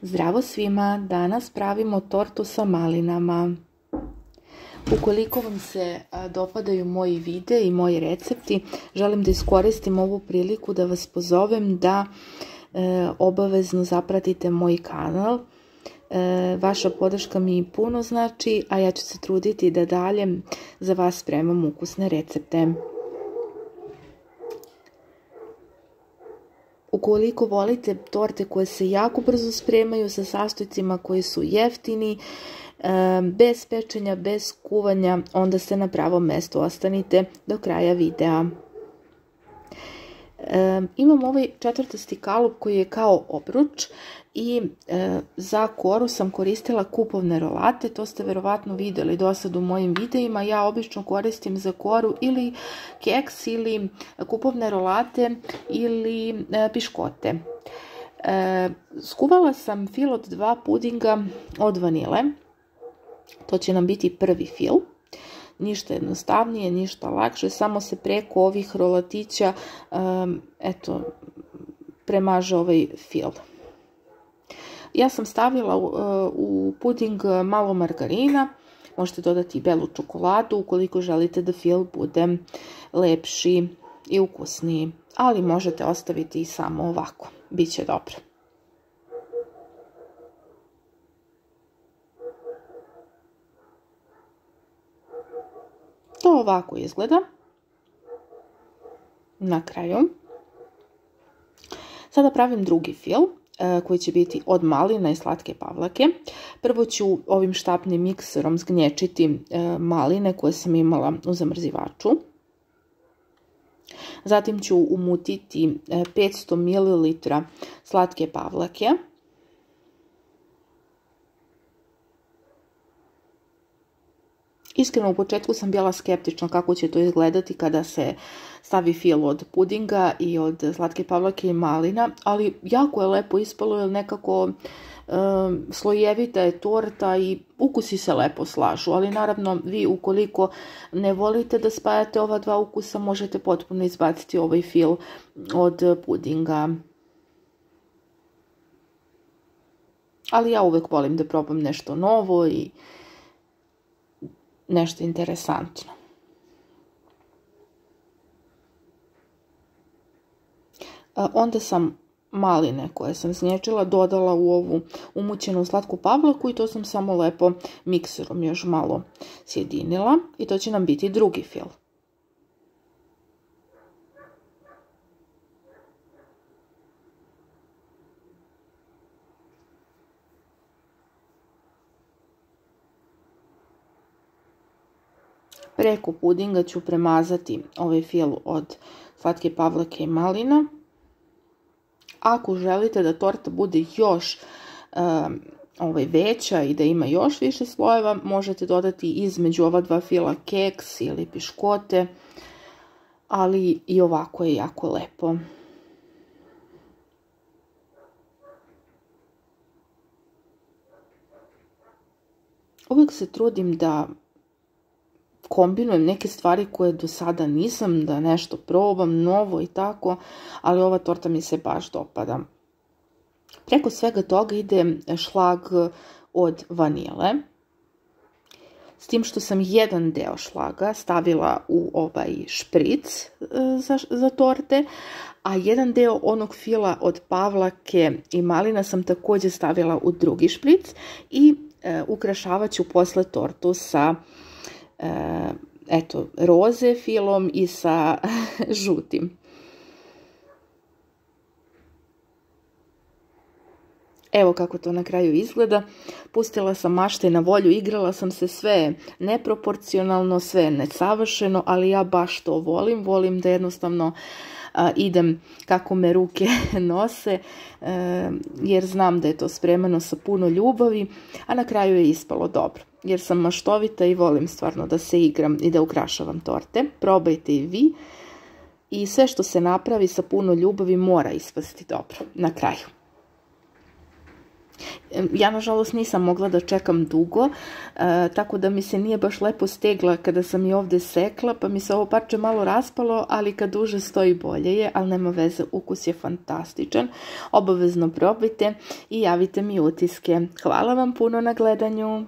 Zdravo svima, danas pravimo tortu sa malinama. Ukoliko vam se dopadaju moji videi i moji recepti, želim da iskoristim ovu priliku da vas pozovem da obavezno zapratite moj kanal. Vaša podrška mi puno znači, a ja ću se truditi da dalje za vas spremam ukusne recepte. Ukoliko volite torte koje se jako brzo spremaju sa sastojcima koji su jeftini, bez pečenja, bez kuvanja, onda ste na pravom mjestu. Ostanite do kraja videa. Imam ovaj četvrtasti kalup koji je kao obruč i za koru sam koristila kupovne rolate. To ste verovatno vidjeli do sad u mojim videima. Ja obično koristim za koru ili keks ili kupovne rolate ili piškote. Skuvala sam fil od 2 pudinga od vanile. To će nam biti prvi fil. Ništa jednostavnije, ništa lakše, samo se preko ovih rolatića premaže ovaj fil. Ja sam stavila u puding malo margarina, možete dodati i belu čokoladu ukoliko želite da fil bude lepši i ukusniji, ali možete ostaviti i samo ovako, bit će dobro. To ovako izgleda na kraju. Sada pravim drugi fil koji će biti od malina i slatke pavlake. Prvo ću ovim štapnim mikserom zgnječiti maline koje sam imala u zamrzivaču. Zatim ću umutiti 500 ml slatke pavlake. Iskreno, u početku sam bila skeptična kako će to izgledati kada se stavi fil od pudinga i od slatke pavlake i malina, ali jako je lepo ispalo jer nekako slojevita je torta i ukusi se lepo slažu, ali naravno vi ukoliko ne volite da spajate ova dva ukusa možete potpuno izbaciti ovaj fil od pudinga. Ali ja uvek volim da probam nešto novo i nešto interesantno. Onda sam maline koje sam snječila dodala u ovu umućenu slatku pavlaku i to sam samo lepo mikserom još malo sjedinila i to će nam biti drugi fil. Preko pudinga ću premazati ovaj fil od slatke pavlake i malina. Ako želite da torta bude još veća i da ima još više slojeva, možete dodati između ova dva fila keks ili piškote, ali i ovako je jako lepo. Uvijek se trudim da kombinujem neke stvari koje do sada nisam, da nešto probam novo i tako, ali ova torta mi se baš dopada. Preko svega toga ide šlag od vanile, s tim što sam jedan deo šlaga stavila u ovaj špric za torte, a jedan deo onog fila od pavlake i malina sam također stavila u drugi špric i ukrašavat ću posle tortu sa roze filom i sa žutim. Evo kako to na kraju izgleda. Pustila sam mašte na volju, igrala sam se, sve neproporcionalno, sve nesavršeno, ali ja baš to volim. Volim da jednostavno idem kako me ruke nose, jer znam da je to spremano sa puno ljubavi, a na kraju je ispalo dobro. Jer sam maštovita i volim stvarno da se igram i da ukrašavam torte. Probajte i vi. I sve što se napravi sa puno ljubavi mora ispasti dobro na kraju. Ja nažalost nisam mogla da čekam dugo, tako da mi se nije baš lepo stegla kada sam je ovdje sekla, pa mi se ovo parče malo raspalo, ali kad duže stoji bolje je, ali nema veze, ukus je fantastičan. Obavezno probajte i javite mi utiske. Hvala vam puno na gledanju.